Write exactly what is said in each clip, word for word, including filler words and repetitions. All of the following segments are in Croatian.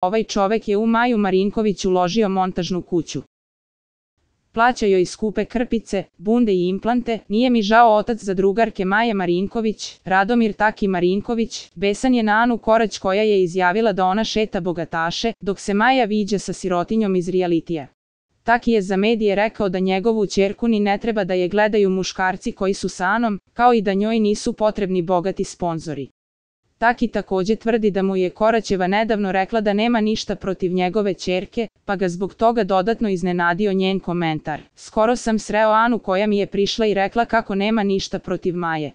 Ovaj čovek je u Maju Marinković uložio montažnu kuću. Plaća joj skupe krpice, bunde i implante. Nije mi žao otac za drugarke Maje Marinković, Radomir Taki Marinković, besan je na Anu Korać koja je izjavila da ona šeta bogataše, dok se Maja viđa sa sirotinjom iz realitija. Taki je za medije rekao da njegovu ćerku ni ne treba da je gledaju muškarci koji su sa Anom, kao i da njoj nisu potrebni bogati sponzori. Taki takođe tvrdi da mu je Koraćeva nedavno rekla da nema ništa protiv njegove ćerke, pa ga zbog toga dodatno iznenadio njen komentar. Skoro sam sreo Anu koja mi je prišla i rekla kako nema ništa protiv Maje.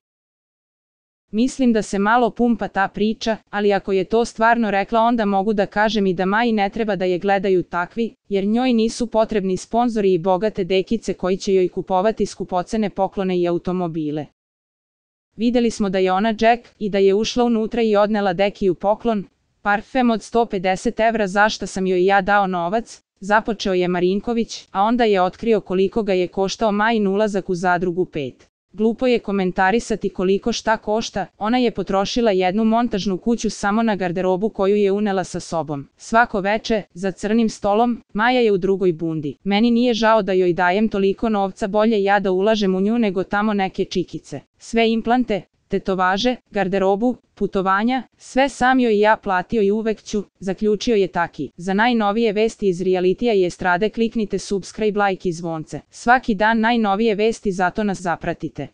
Mislim da se malo pumpa ta priča, ali ako je to stvarno rekla onda mogu da kažem i da Maji ne treba da je gledaju takvi, jer njoj nisu potrebni sponzori i bogate dekice koji će joj kupovati skupocene poklone i automobile. Videli smo da je ona Jack i da je ušla unutra i odnela Dekiju poklon, parfem od sto pedeset evra za šta sam joj ja dao novac, započeo je Marinković, a onda je otkrio koliko ga je koštao Majin ulazak u Zadrugu pet. Glupo je komentarisati koliko šta košta, ona je potrošila jednu montažnu kuću samo na garderobu koju je unela sa sobom. Svako veče, za crnim stolom, Maja je u drugoj bundi. Meni nije žao da joj dajem toliko novca, bolje ja da ulažem u nju nego tamo neke čikice. Sve implante, tetovaže, garderobu, putovanja, sve sam joj ja platio i uvek ću, zaključio je Taki. Za najnovije vesti iz realitija i estrade kliknite subscribe, like i zvonce. Svaki dan najnovije vesti, zato nas zapratite.